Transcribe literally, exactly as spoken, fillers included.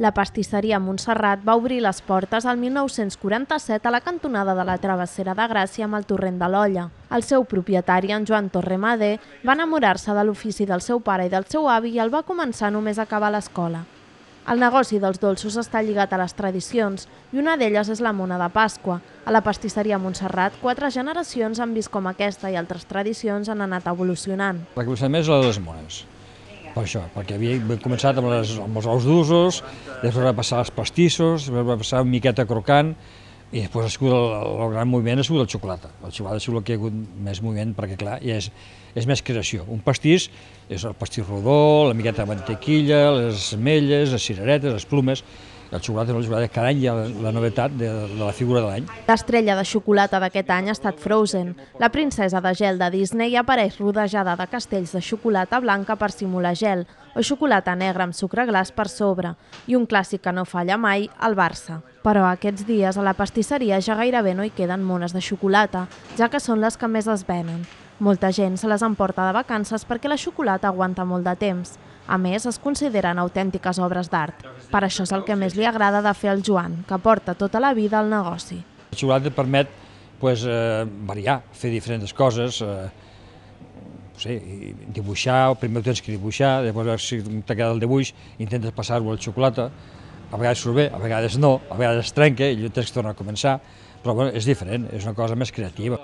La pastisseria Montserrat va obrir les portes al mil nou-cents quaranta-set a la cantonada de la Travessera de Gràcia amb el torrent de l'Olla. El seu propietari, en Joan Torremadé, va enamorar-se de l'ofici del seu pare i del seu avi i el va començar només a acabar l'escola. El negoci dels dolços està lligat a les tradicions i una d'elles és la mona de Pasqua. A la pastisseria Montserrat, quatre generacions han vist com aquesta i altres tradicions han anat evolucionant. La que més és la de les mones. Per això, perquè havia començat amb, les, amb els ous d'usos, després va passar als pastissos, després va passar una miqueta crocant, i després ha sigut el, el gran moviment ha sigut el xocolata. El xocolata ha sigut el que hi ha hagut més moviment, perquè clar, ja és, és més creació. Un pastís és el pastís rodó, la miqueta de mantequilla, les ametlles, les cireretes, les plumes. El xocolata, el xocolata cada any hi ha la novetat de, de la figura de l'any. L'estrella de xocolata d'aquest any ha estat Frozen. La princesa de gel de Disney apareix rodejada de castells de xocolata blanca per simular gel, o xocolata negra amb sucre glaç per sobre, i un clàssic que no falla mai, el Barça. Però aquests dies a la pastisseria ja gairebé no hi queden mones de xocolata, ja que són les que més es venen. Molta gent se les emporta de vacances perquè la xocolata aguanta molt de temps. A més, es consideren autèntiques obres d'art. Per això és el que més li agrada de fer al Joan, que porta tota la vida al negoci. La xocolata permet pues, eh, variar, fer diferents coses, eh, no sé, dibuixar, primer ho tens que dibuixar, després si t'ha quedat el dibuix intentes passar-ho al xocolata, a vegades surt bé, a vegades no, a vegades es trenca i tens que tornar a començar, però bueno, és diferent, és una cosa més creativa.